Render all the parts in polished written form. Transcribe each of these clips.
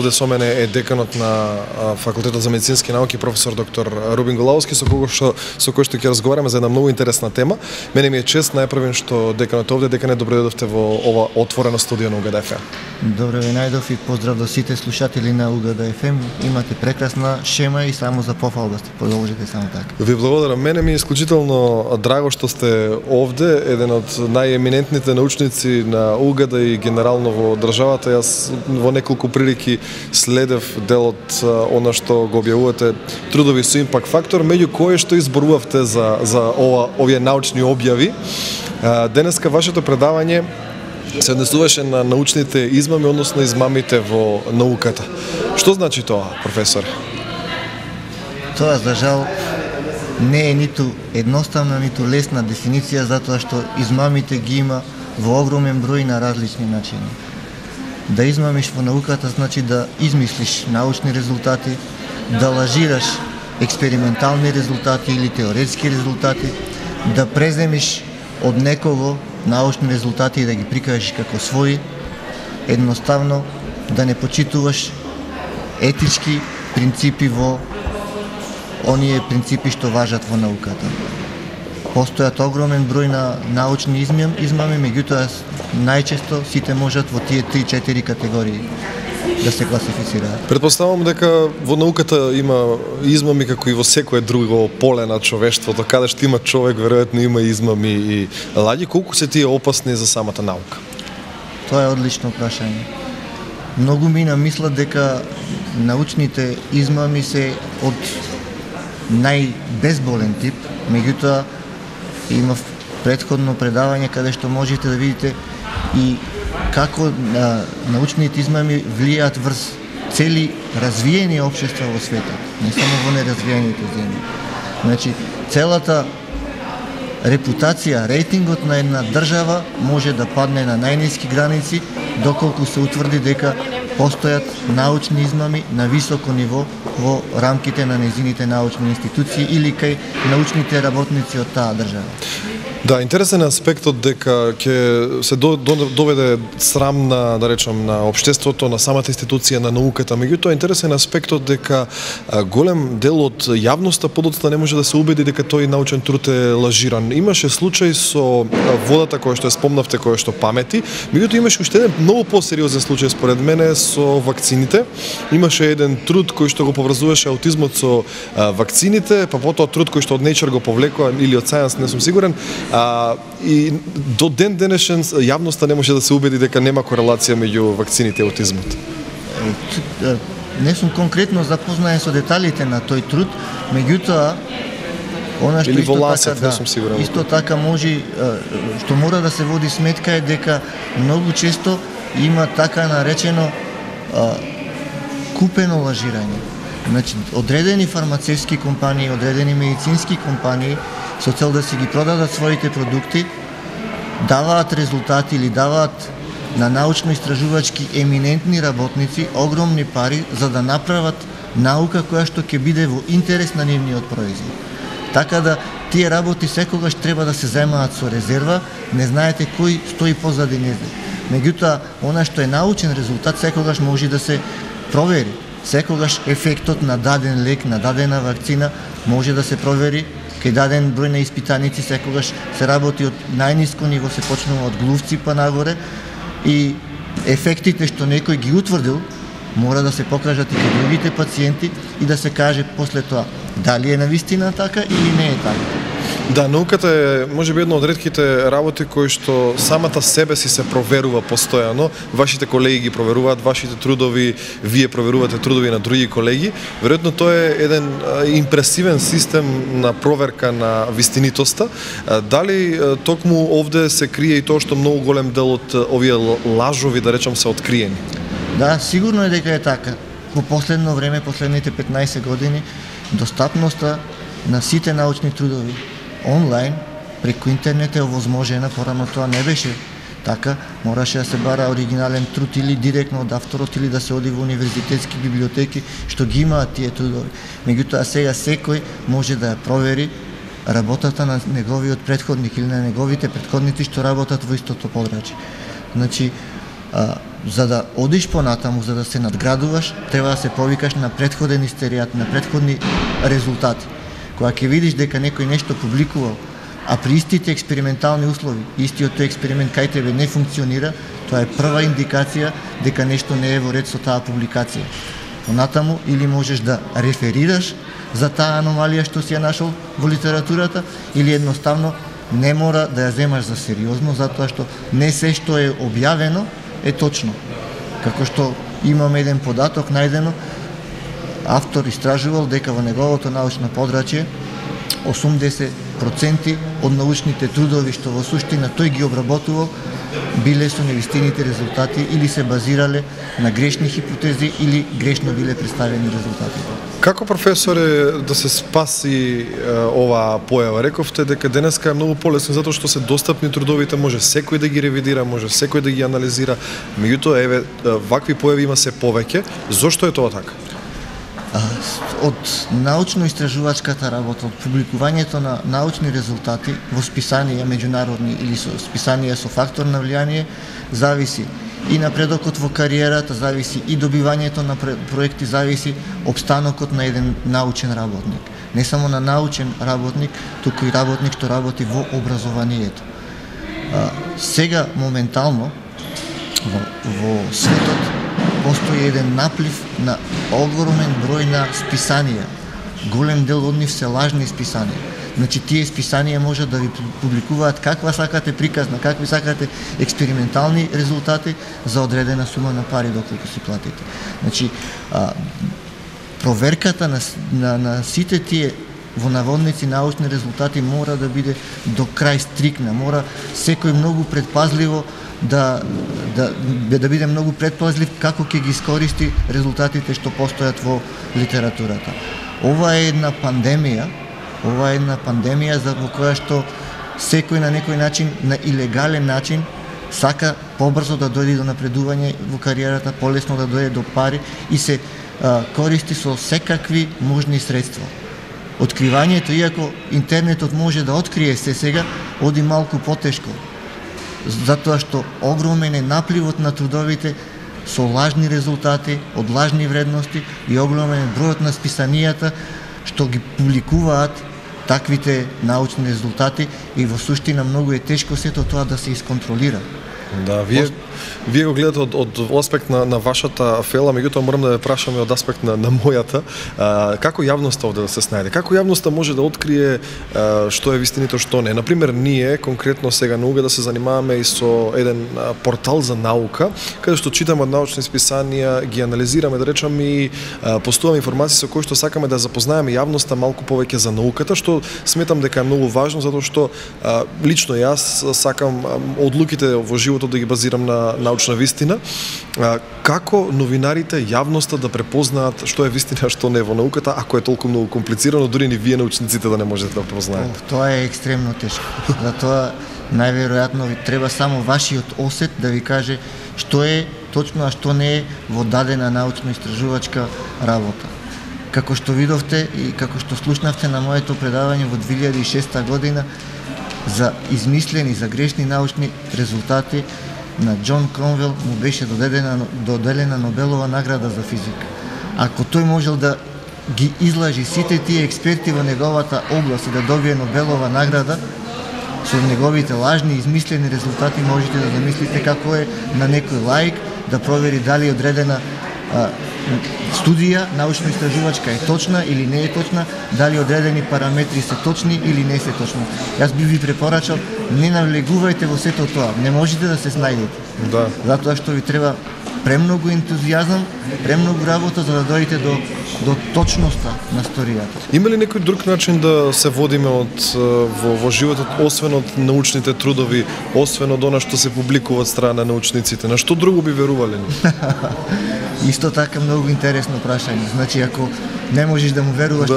Овде со мене е деканот на Факултетот за медицински науки, професор доктор Рубин Голауски, со кој што ќе разговараме за една многу интересна тема. Мене ми е чест најпрвен што деканот овде. Декане, добро дојдовте во ова отворено студио на УГД ФМ. Добро ви најдов и поздрав до сите слушатели на УГД ФМ. Имате прекрасна шема и само за пофалба сте продолжите само така. Ви благодарам. Мене ми е исклучително драго што сте овде, еден од најеминентните научници на УГД и генерално во државата. Јас во неколку прилики следев дел од она што го објавувате трудови со импакт фактор, меѓу кое што изборувавте за овие научни објави. Денеска вашето предавање се однесуваше на научните измами, односно измамите во науката. Што значи тоа, професор? Тоа, за жал, не е ниту едноставна, ниту лесна дефиниција, затоа што измамите ги има во огромен број на различни начини. Да измамиш во науката значи да измислиш научни резултати, да лажираш експериментални резултати или теоретски резултати, да преземиш од некого научни резултати и да ги прикажеш како своји, едноставно да не почитуваш етички принципи во оние принципи што важат во науката. Постојат огромен број на научни измами, меѓутоа најчесто сите можат во тие 3-4 категории да се класифицираат. Предпоставам дека во науката има измами како и во секое друго поле на човештвото, каде што има човек, веројатно има измами и лаѓи. Колку се тие опасни за самата наука? Тоа е одлично прашање. Многу мина мислат дека научните измами се од најбезболен тип, меѓутоа има претходно предавање каде што можете да видите и како научните измами влијаат врз цели развиени општества во светот, не само во неразвиените земји. Значи, целата репутација, рейтингот на една држава може да падне на најниски граници доколку се утврди дека постојат научни измами на високо ниво во рамките на нејзините научни институции или кај научните работници од таа држава. Да, интересен е аспектот дека ќе се доведе срам на, да речам, на општеството, на самата институција на науката. Меѓутоа, интересен е аспектот дека голем дел од јавноста подоцна не може да се убеди дека тој научен труд е лажиран. Имаше случај со водата која што ја спомнавте, која што памети, меѓутоа имаше уште еден многу посериозен случај според мене со вакцините. Имаше еден труд кој што го поврзуваше аутизмот со вакцините, па потоа труд кој што од Nature го повлекоа или од Science, не сум сигурен. И до ден денешен јавноста не може да се убеди дека нема корелација меѓу вакцините и аутизмот. Не сум конкретно запознаен со деталите на тој труд, меѓутоа она што исто така може, што мора да се води сметка е дека многу често има така наречено купено лажирање. Значи, одредени фармацевски компании, одредени медицински компании со цел да си ги продадат своите продукти, даваат резултати или даваат на научно-истражувачки еминентни работници огромни пари за да направат наука која што ќе биде во интерес на нивниот производ. Така да тие работи секогаш треба да се земаат со резерва, не знаете кој стои позади незе. Меѓутоа, она што е научен резултат секогаш може да се провери. Секогаш ефектот на даден лек, на дадена вакцина може да се провери. Кај даден број на испитаници секогаш се работи од најниско ниво, се почнува од глувци па нагоре и ефектите што некој ги утврдил мора да се покажат и кај другите пациенти и да се каже после тоа дали е навистина така или не е така. Да, науката е можеби една од ретките работи кои што самата себе си се проверува постојано. Вашите колеги ги проверуваат вашите трудови, вие проверувате трудови на други колеги. Веројатно тоа е еден импресивен систем на проверка на вистинитоста. Дали токму овде се крие и тоа што многу голем дел од овие лажови, да речам, се откриени? Да, сигурно е дека е така. Во последно време, последните 15 години, достапноста на сите научни трудови онлайн, преку интернет е овозможена, порано тоа не беше така, мораше да се бара оригинален труд или директно од авторот или да се оди во универзитетски библиотеки што ги имаат тие трудови. Меѓутоа сега секој може да ја провери работата на неговиот претходник или на неговите претходници што работат во истото подрачје. Значи, За да одиш понатаму, за да се надградуваш, треба да се повикаш на претходен истеријат, на претходни резултати. Кога ќе видиш дека некој нешто публикувал, а при истите експериментални услови, истиот тој експеримент кај тебе не функционира, тоа е прва индикација дека нешто не е во ред со таа публикација. Понатаму или можеш да реферираш за таа аномалија што си ја нашол во литературата, или едноставно не мора да ја земаш за сериозно, затоа што не се што е објавено е точно. Како што имам еден податок најдено, автор истражувал дека во неговото научно подрачје 80% од научните трудови што во суштина тој ги обработувал биле со невистините резултати или се базирале на грешни хипотези или грешно биле представени резултатите. Како професоре да се спаси оваа појава? Рековте дека денеска е многу полесно затоа што се достапни трудовите, може секој да ги ревидира, може секој да ги анализира. Меѓутоа, еве, вакви појави има се повеќе. Зошто е тоа така? Од научно-истражувачката работа, од публикувањето на научни резултати во списанија меѓународни или со списанија со фактор на влијание, зависи и напредокот во кариерата, зависи и добивањето на проекти, зависи обстанокот на еден научен работник. Не само на научен работник, туку и работник што работи во образованието. Сега, моментално, во светот, постои еден наплив на огромен број на списанија. Голем дел од нив се лажни списанија. Значи, тие списанија можат да ви публикуваат каква сакате приказна, какви сакате експериментални резултати за одредена сума на пари доколку си платите. Значи, проверката на сите тие во наводници научни резултати мора да биде до крај стрикна, мора секој многу предпазливо да биде многу предпазлив како ќе ги искористи резултатите што постојат во литературата. Ова е една пандемија за во која што секој на некој начин, на илегален начин, сака побрзо да дојде до напредување во кариерата, полесно да дојде до пари и се користи со секакви можни средства. Откривањето, иако интернетот може да открие се сега, оди малку потешко. Затоа што огромен е напливот на трудовите со лажни резултати, од лажни вредности и огромен е бројот на списанијата што ги публикуваат таквите научни резултати и во суштина многу е тешко сето тоа да се исконтролира. Да, вие го гледате од аспект на вашата фела, меѓутоа морам да ве прашаме од аспект на мојата. Како јавноста овде да се снајде? Како јавноста може да открие што е вистинито, што не? Например, ние конкретно сега на УГ да се занимаваме и со еден портал за наука, каде што читаме од научни списанија, ги анализираме, да речам, и постуваме информации со кои што сакаме да запознаеме јавноста малку повеќе за науката, што сметам дека е многу важно, затоа што лично јас сакам одлуките во животот да ги базирам на научна вистина. Како новинарите, јавноста да препознаат што е вистина, што не во науката, ако е толку многу комплицирано, дури ни вие научниците да не можете да препознаете? Тоа е екстремно тешко. Затоа најверојатно ви треба само вашиот осет да ви каже што е точно, а што не е во дадена научно-истражувачка работа. Како што видовте и како што слушнавте на моето предавање во 2006 година, за измислени, за грешни научни резултати на Џон Кронвел му беше доделена Нобелова награда за физика. Ако тој можел да ги излажи сите тие експерти во неговата област и да добие Нобелова награда со неговите лажни измислени резултати, можете да замислите како е на некој лаик да провери дали одредена студија научно-истражувачка е точна или не е точна, дали одредени параметри се точни или не се точни. Јас би ви препорачал, не навлегувајте во сето тоа, не можете да се снајдете. Да. Затоа што ви треба премногу ентузијазам, премногу работа за да дојдете до точноста на сторијата. Има ли некој друг начин да се водиме во животот, освен од научните трудови, освен од она што се публикува од страна на научниците? На што друго би верувале? Исто така многу интересно прашање. Значи, ако не можеш да му веруваш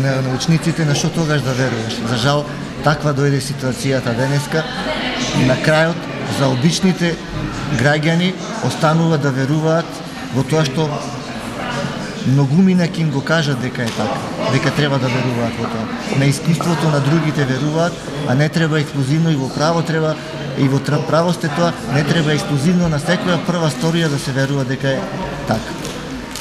на научниците, на што тогаш да веруваш? За жал, таква дојде ситуацијата денеска. На крајот, за обичните граѓани останува да веруваат во тоа што многумина ќе им го кажат дека е така, дека треба да веруваат во тоа. На искуството на другите веруваат, а не треба ексклузивно и во право треба И во право сте тоа, не треба ексклузивно на секоја прва сторија да се верува дека е така.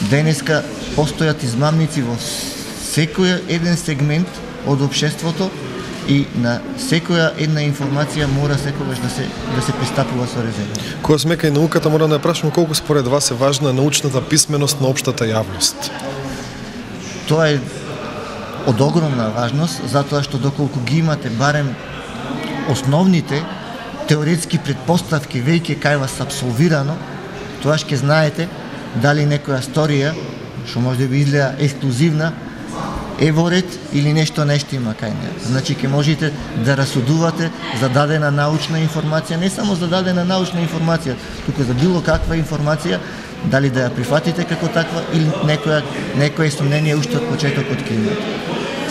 Денеска постојат измамници во секој еден сегмент од општеството и на секоја една информација мора секогаш да се пристапува со резерва. Кога сме кај науката, мора да прашам колку според вас е важна научната писменост на општата јавност? Тоа е од огромна важност, затоа што доколку ги имате барем основните теоретски претпоставки веќе кај вас абсолвирано, тоа ќе знаете дали некоја сторија, што може да би изгледа ексклузивна, е во ред или нешто има кај неа. Значи ќе можете да расудувате за дадена научна информација, не само за дадена научна информација, туку за било каква информација, дали да ја прифатите како таква или некое сомнение уште од почетокот ќе имате.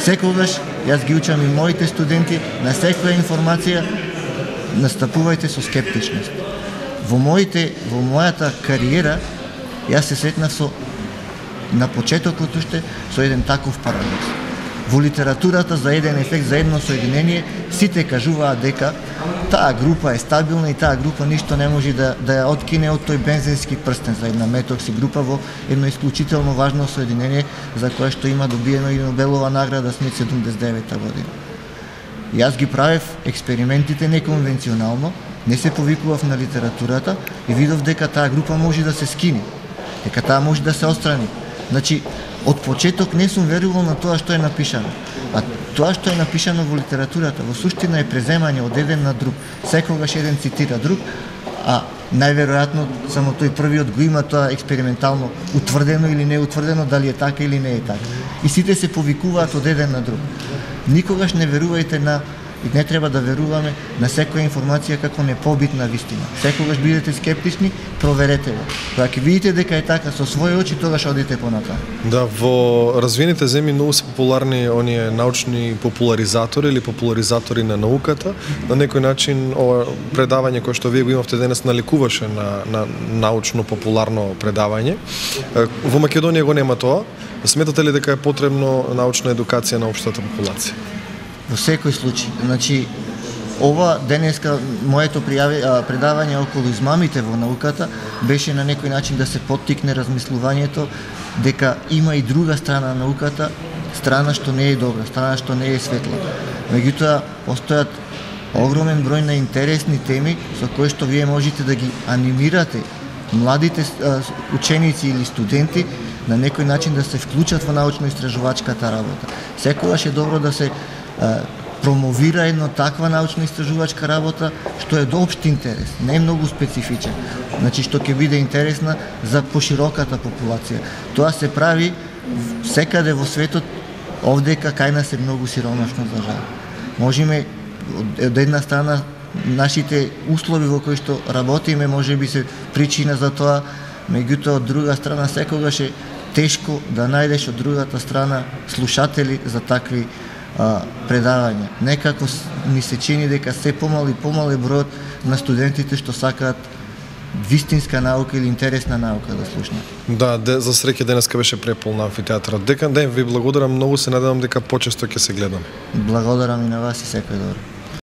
Секогаш, јас ги учам и моите студенти, на секоја информација настапувајте со скептичност. Во мојата кариера, јас се сретнав на почетокот уште со еден таков парадокс. Во литературата за еден ефект, за едно соединение, сите кажуваат дека таа група е стабилна и таа група ништо не може да ја откине од тој бензински прстен за една метокси група во едно исклучително важно соединение за кое што има добиено и Нобелова награда Смит 79-та година. Јас ги правев експериментите неконвенционално, не се повикував на литературата и видов дека таа група може да се скини, дека таа може да се отстрани. Значи, од почеток не сум верувал на тоа што е напишано. А тоа што е напишано во литературата, во суштина е преземање од еден на друг. Секогаш еден цитира друг, а најверојатно само тој првиот го има тоа експериментално утврдено или не утврдено, дали е така или не е така. И сите се повикуваат од еден на друг. Никогаш не верувајте и не треба да веруваме на секоја информација како непобитна вистина. Секогаш бидете скептични, проверете го. Кога ќе видите дека е така со своји очи, тогаш одите понатаму. Да, во развиените земји многу се популарни оние научни популаризатори или популаризатори на науката. На некој начин ова предавање кое што вие го имавте денес наликуваше на научно популарно предавање. Во Македонија го нема тоа. Сметате ли дека е потребно научна едукација на општата популација? Во секој случај. Значи, ова денеска моето предавање околу измамите во науката беше на некој начин да се поттикне размислувањето дека има и друга страна на науката, страна што не е добра, страна што не е светла. Меѓутоа, постојат огромен број на интересни теми со кои што вие можете да ги анимирате младите ученици или студенти на некој начин да се вклучат во научно-истражувачката работа. Секогаш е добро да се промовира една таква научно-истражувачка работа што е до општ интерес, не е многу специфичен. Значи што ќе биде интересна за пошироката популација. Тоа се прави секаде во светот, овдека кај нас е многу сиромашно за жал. Можеме од една страна нашите услови во кои што работиме можеби се причина за тоа, меѓутоа од друга страна секогаш е тешко да најдеш од другата страна слушатели за такви предавања. Некако ми се чини дека се помал и помал е бројот на студентите што сакаат вистинска наука или интересна наука да слушнат. Да, за среќа денеска беше преполн амфитеатарот. Декан ден ви благодарам многу, се надевам дека почесто ќе се гледам. Благодарам и на вас и секој добро.